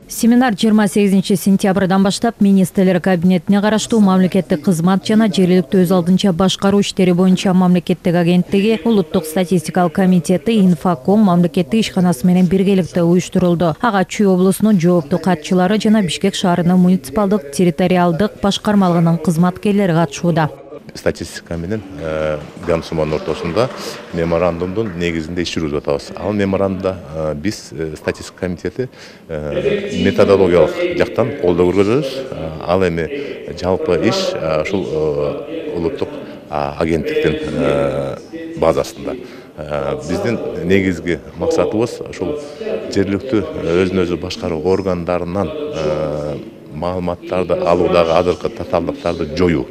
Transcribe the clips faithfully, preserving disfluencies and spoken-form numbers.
Семинар жыйырма сегизинчи сентябрдан баштап министрлер кабинетине караштуу мамлекеттик кызмат жана жергиликтүү өз алдынча башкаруу иштери боюнча мамлекеттик агенттиги, улуттук статистикалык комитети, Инфоком мамлекеттик ишканасы менен биргеликте уюштурулду. Ага Чүй облусунун жооптуу катчылары жана Бишкек шаарынын муниципалдык территориалдык башкармалыгынын кызматкерлери катышууда. Статистика менен Гамсуманын ортосунда меморандумдун негизинде иш жүргүзүп атабыз. Ал меморандумда биз статистика комитети методологиялык жактан колдоо көргөзөбүз. Ал эми жалпы иш ушул улуттук агенттиктин базасында. Биздин негизги максатыбыз ушул жергиликтүү өзүн өзү башкаруу органдарынан маалыматтарды алуудагы азыркы татаалдыктарды жоюу.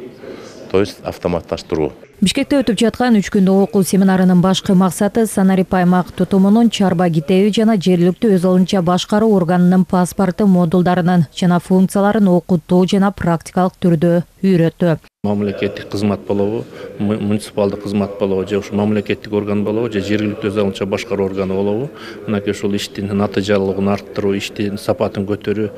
То есть автоматташтыруу. Бишкекте өтүп жаткан үч күндүк окуу семинарынын башкы максаты Санарип аймак тутумунун чарба китеби жана жергиликтүү өз алдынча башкаруу органынын паспорту модулдарынын жана функцияларын окутуу жана практикалык түрдө үйрөтүү. Мамлекеттик кызмат болобу, муниципалдык кызмат болобу, же ушул мамлекеттик орган болобу, же жергиликтүү өз алдынча башкаруу органы болобу, мынакей ушул иштин натыйжалуулугун арттыруу, иштин сапатын көтөрүү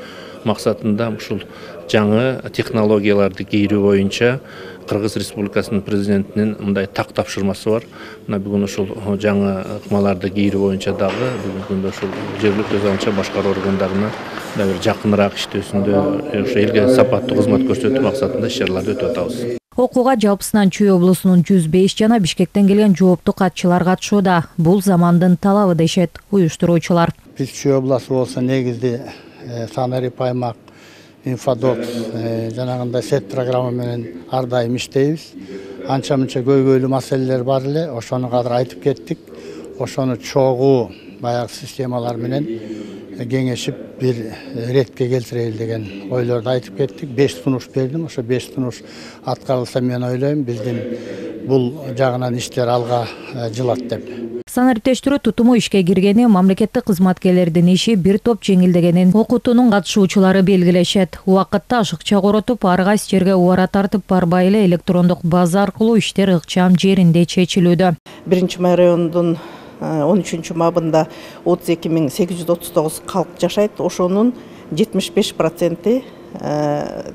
максатында ушул жаңы технологияларды кийрүү боюнча Кыргыз Республикасынын президентинин мындай так тапшырмасы бар. Мына бүгүн ушул жаңы ыкмаларды кийрүү боюнча дагы бүгүнкү күндө ушул жергиликтүү өз алдынча башкаруу органдарына да бир жакыныраак иштөөсүндө ошо элге сапаттуу кызмат көрсөтүү максатында иш-чараларды өтүп атабыз. Окууга жалпысынан Чүй облусунун жүз беш жана Бишкектен келген жооптуу катчылар катышууда. Бул замандын талабы дешет уюштуруучулар. Биз Чүй обласу болсо негизди Санарип аймак Инфодок жанагындай сет программа менен ар дайым иштейбиз. Анча мынча көйгөйлүү маселелер бар эле, ошону кадыр айтып кеттик. Ошону чогуу баягы системалар менен кеңешип бир ретке келтирели деген ойлорду айтып кеттик. беш сунуш бердим. Ошо беш сунуш аткарылса мен ойлойм биздин бул жагынан иштер алга жылат деп. Санариптештирүү тутуму ишке киргени, мамлекеттик кызматкерлердин иши бир топ жеңилдегенин окутуунун катышуучулары белгилешет. Убакытты ашыкча коротуп, ар кайсы жерге убара тартып барбай эле электрондук база аркылуу иштер ыкчам жеринде чечилүүдө. Биринчи май районунун он үчүнчү мабында отуз эки миң сегиз жүз отуз тогуз калк жашайт. Ошонун жетимиш беш проценти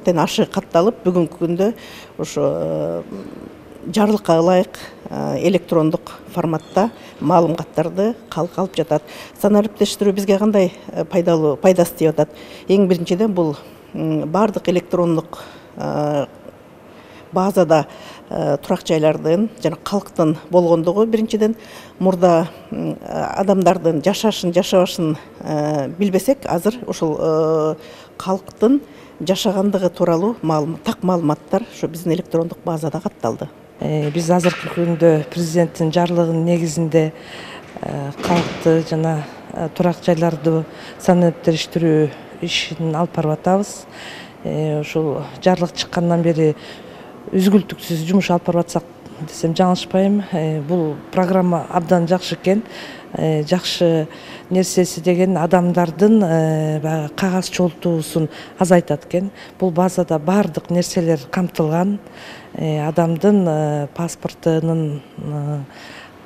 тен ашы катталып, бүгүнкү күндө ошо жарлыкка ылайык электрондук форматта маалыматтарды калк алып жатат. Санариптештирүү бизге кандай пайдалуу пайдасы тиеп атат? Эң биринчиден бул бардык электрондук базада турак жайлардын жана калктын болгондугу биринчиден мурда адамдардын жашашын жашабашын билбесек, азыр ушул калктын жашагандыгы тууралуу так маалыматтар ушу биздин электрондук базада катталды. Биз азыркы күндө президенттин жарлыгынын негизинде калкты жана турак жайларды санариптештирүү ишин алып барып атабыз. Ушул жарлык чыккандан бери үзгүлтүксүз жумуш алып барып атсак десем жаңылышпайм. Бул программа абдан жакшы экен. Жакшы нерсеси деген адамдардын баягы кагаз чогултуусун азайтат экен. Бул базада бардык нерселер камтылган. Адамдын паспортунун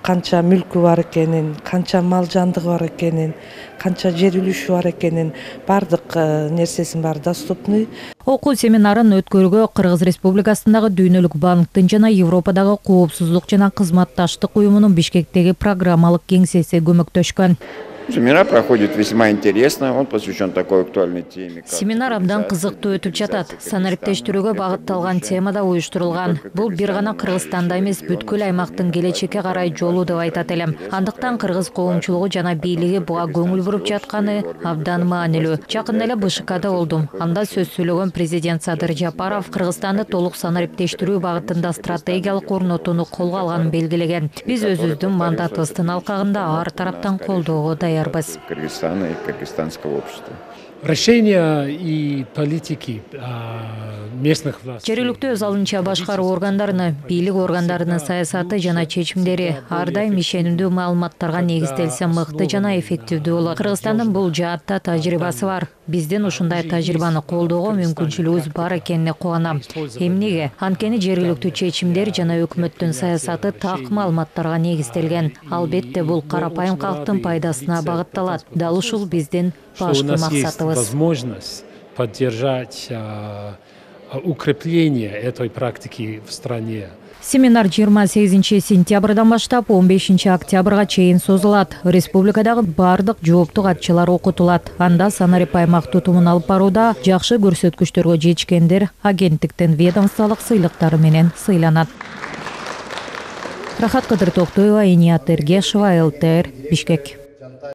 канча мүлкү бар экенин, канча мал жандыгы бар экенин, канча жер үлүшү бар экенин, бардык нерсесин баары доступный. Окуу семинарын өткөрүүгө Кыргыз Республикасындагы Дүйнөлүк банктын жана Европадагы коопсуздук жана кызматташтык уюмунун Бишкектеги программалык кеңсеси көмөктөшкөн. Семинар проходит весьма интересно, он посвящен такой актуальной теме. Семинар абдан кызыктуу өтүп жатат. Санариптештирүүгө багытталган темада уюштурулган. Бул бир гана Кыргызстанда эмес, бүткүл аймактын келечекке карай жолу деп айтат элем. Андыктан кыргыз коомчулугу жана бийлиги буга көңүл буруп жатканы абдан маанилүү. Жакында эле Б Ш Кда болдум. Анда сөз сүйлөгөн президент Садыр Жапаров Кыргызстанды толук санариптештирүү багытында стратегиялык орнотууну колго алганын белгилеген. Биз өзүбүздүн мандатыбыздын алкагында ар тараптан колдоого даярбыз. Кыргызстана и кыргызстанского общества. Решения и политики местных властей. Жергиликтүү өз алдынча башкаруу органдарыны, бийлик органдарынын саясаты жана чечимдери ар дайым ишенимдүү маалыматтарга негизделсе мыкты жана эффективдүү болот. Кыргызстандын бул жаатта тажрыйбасы бар. Биздин ушундай тажрыйбаны колдоого мүмкүнчүлүгүбүз бар экенине кубанам. Эмнеге? Анткени жергиликтүү чечимдер жана өкмөттүн саясаты так маалыматтарга негизделген. Албетте бул карапайым калктын пайдасына багытталат. Дал ушул биздин башкы максатыбыз. кылабыз. Возможность поддержать укрепление этой практики в стране. Семинар жыйырма сегизинчи сентябрдан баштап он бешинчи октябрга чейин созулат. Республикадагы бардык жооптуу катчылар окутулат. Анда санарип аймак тутумун алып барууда жакшы көрсөткүчтөргө жетишкендер агенттиктин ведомстволук сыйлыктары менен сыйланат. Рахат Кыдыр Токтоева, Иният Эргешева, эл тэ эр, Бишкек.